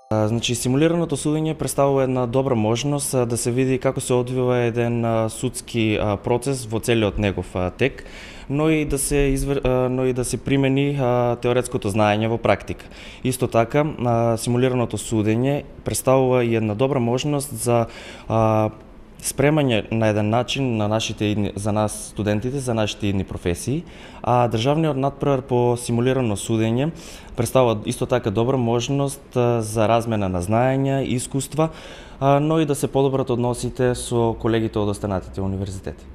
Значи, симулираното судење представува една добра можност да се види како се одвива еден судски процес во целиот негов тек, но и да се примени теоретското знаење во практика. Исто така, симулираното судење представува и една добра можност за спремање на еден начин за нас студентите, за нашите идни професии, а државниот надпревар по симулирано судење представува исто така добра можност за размена на знаења и искуства, но и да се подобрат односите со колегите од останатите универзитети.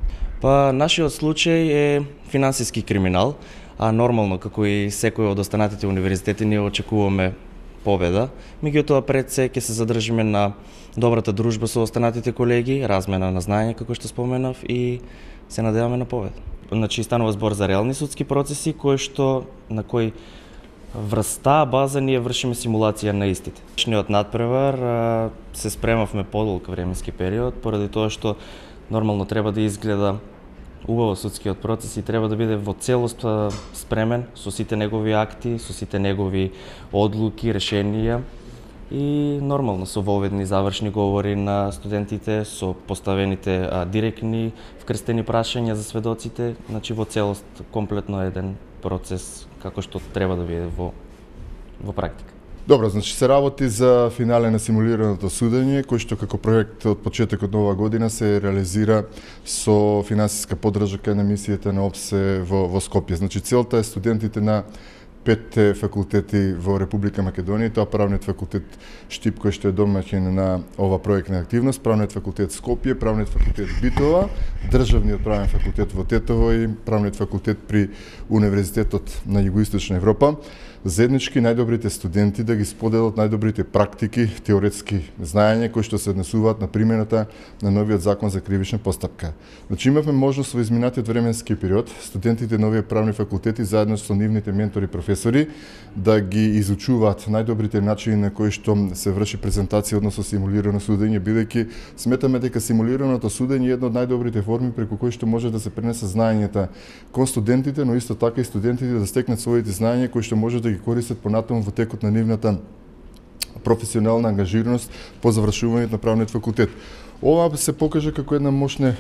Нашиот случај е финансиски криминал, а нормално како и секој од останатите универзитети ние очекуваме победа, меѓутоа пред се ќе се задржиме на добрата дружба со останатите колеги, размена на знаење како што споменав и се надеваме на победа. Значи станува збор за реални судски процеси на кои врз таа база ние вршиме симулација на истите. Нашиот надпревар се спремавме подолг временски период поради тоа што нормално треба да изгледа убаво судскиот процес и треба да биде во целост спремен со сите негови акти, со сите негови одлуки, решенија и нормално со воведни завршни говори на студентите, со поставените директни вкрстени прашања за сведоците, значи во целост комплетно еден процес како што треба да биде во практика. Добро, значи се работи за финале на симулираното судење, кој што како проект од почетокот на оваа година се реализира со финансиска поддршка на мисијата на ОПСЕ во Скопје. Значи целта е студентите на 5 факултети во Република Македонија, тоа правниот факултет Штип кој што е домаќин на ова проектна активност, правниот факултет Скопје, правниот факултет Битола, државниот правен факултет во Тетово и правниот факултет при Универзитетот на Југоисточна Европа. Заеднички најдобрите студенти да ги споделат најдобрите практики, теоретски знаења кои што се однесуваат на примената на новиот закон за кривична постапка. Значи имавме можност во изминатиот временски период студентите на овие правни факултети заедно со нивните ментори професори да ги изучуваат најдобрите начини на кои што се врши презентација односно симулирано судење, бидејќи сметаме дека симулираното судење е една од најдобрите форми преку кои што може да се пренесе знаењата кон студентите, но исто така и студентите да стекнат своите знаења кои што може да ги користат понатаму во текот на нивната професионална ангажираност по завршувањето на правниот факултет. Ова се покажа како една мощна,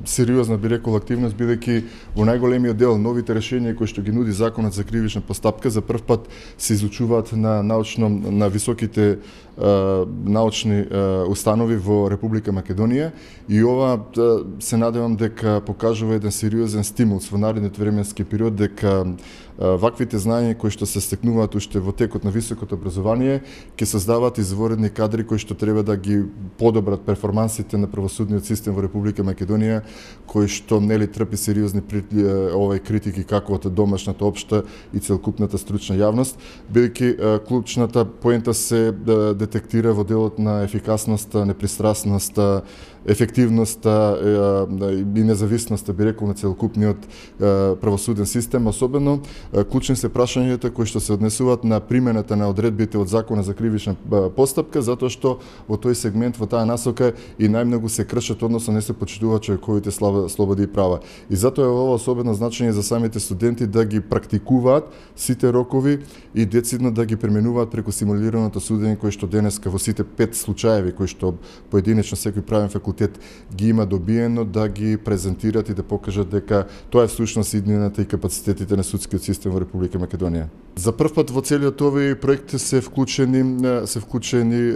сериозна, би рекол, активност, бидејќи во најголемиот дел новите решенија кои што ги нуди законот за кривична постапка за прв пат се изучуваат на високите научни установи во Република Македонија и ова се надевам дека покажува еден сериозен стимул во наредниот временски период дека ваквите знаења кои што се стекнуваат уште во текот на високото образование ќе создаваат изворени кадри кои што треба да ги подобрат перформансите на правосудниот систем во Република Македонија, кој што нели трпи сериозни критики како од домашната општа и целокупната стручна јавност, бидејќи клучната поента се детектира во делот на ефикасноста, непристрасноста, ефективноста и независноста, би рекол, на целокупниот правосуден систем, особено клучни се прашањата кои што се однесуваат на примената на одредбите од Закона за кривична постапка, затоа што во тој сегмент, во таа насока и најмногу се кршат, односно не се почитуваат човековите слободи и права. И затоа е ова особено значење за самите студенти да ги практикуваат сите рокови и децидно да ги применуваат преку симулираното судење кој што денеска во сите 5 случаеви кои што поединечно секој правен факултет ги има добиено, да ги презентират и да покажат дека тоа е всушност иднината и капацитетите на судскиот систем во Република Македонија. За прв пат во целиот овој проект се вклучени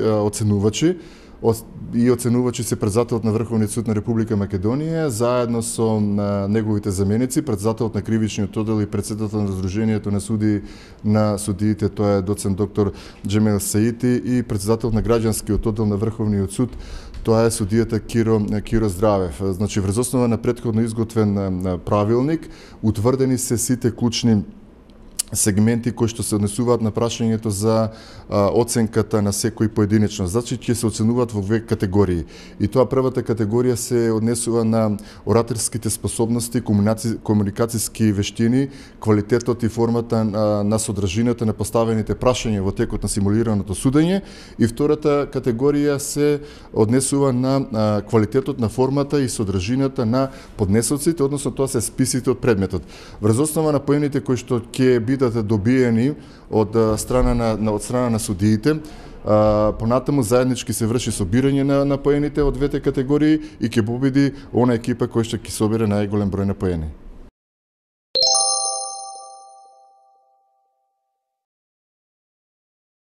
оценувачи и оценувачи се председателот на Врховниот суд на Република Македонија, заедно со неговите заменици, председателот на Кривичниот оддел и председател на Сдруженијето на судиите, тоа е доцент доктор Џемел Саити, и председател на Граѓанскиот оддел на Врховниот суд, тоа е судијата Киро Здравев. Значи, врз основа на претходно изготвен правилник, утврдени се сите клучни сегменти кои што се однесуваат на прашањето за оценката на секој поединечно. Значи ќе се оценуваат во две категории. И тоа првата категорија се однесува на ораторските способности, комуникацијски вештини, квалитетот и формата на содржината на поставените прашања во текот на симулираното судење, и втората категорија се однесува на квалитетот на формата и содржината на поднесоците, односно тоа се списите од предметот. Врз основа на поените кои што ќе бидат бидат добиени од страна на судиите. Понатаму заеднички се врши собирање на поените од двете категории и ќе победи она екипа која ќе собере најголем број на поени.